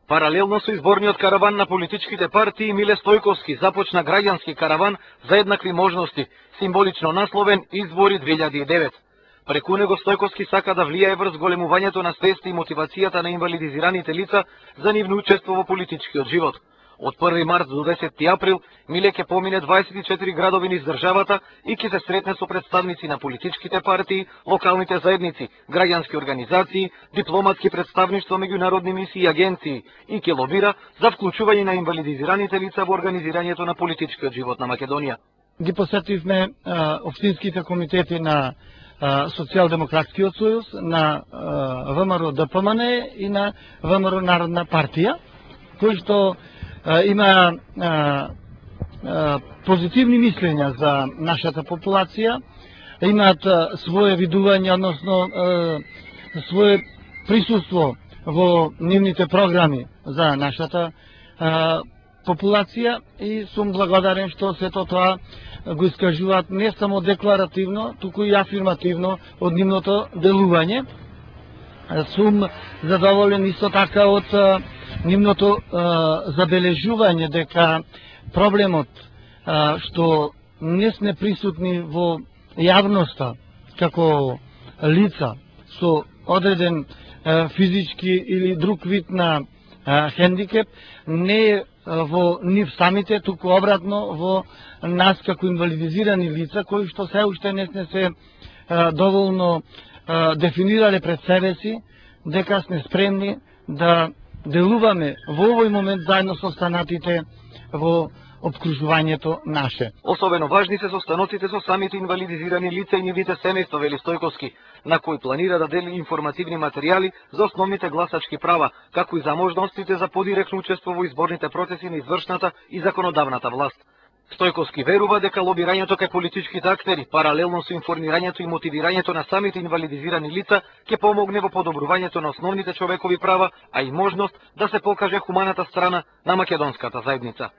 Паралелно со изборниот караван на политичките партии, Миле Стојковски започна граѓански караван за еднакви можности, символично насловен Избори 2009. Преку него Стојковски сака да влијае врз големувањето на свеста и мотивацијата на инвалидизираните лица за нивно учество во политичкиот живот. Од 1 март до 10 април Миле ќе помине 24 градови низ државата и ќе се сретне со представници на политичките партии, локалните заедници, граѓански организации, дипломатски представништва, меѓународни мисии и агенции и ќе лобира за вклучување на инвалидизираните лица во организирањето на политичкиот живот на Македонија. Ги посетивме општинските комитети на Социјалдемократскиот сојуз, на ВМРО ДПМН и на ВМРО Народна партија, кои што има позитивни мислења за нашата популација, имаат свое видување, односно свое присуство во нивните програми за нашата популација и сум благодарен што сето тоа го искажуваат не само декларативно, туку и афирмативно од нивното делување. Сум задоволен исто така од нивното забележување дека проблемот што не сме присутни во јавноста како лица со одреден физички или друг вид на хендикеп не е во нив самите, туку обратно во нас како инвалидизирани лица кои што се уште не се доволно дефинирале пред себе си дека сме спремни да делуваме во овој момент заедно со останатите во обкружувањето наше. Особено важни се состаноците со самите инвалидизирани лица и нивните семејства, вели Стојковски, на кои планира да дели информативни материјали за основните гласачки права, како и за можностите за подиректно учество во изборните процеси на извршната и законодавната власт. Стојковски верува дека лобирањето кај политичките актери, паралелно со информирањето и мотивирањето на самите инвалидизирани лица, ќе помогне во подобрувањето на основните човекови права, а и можност да се покаже хуманата страна на македонската заедница.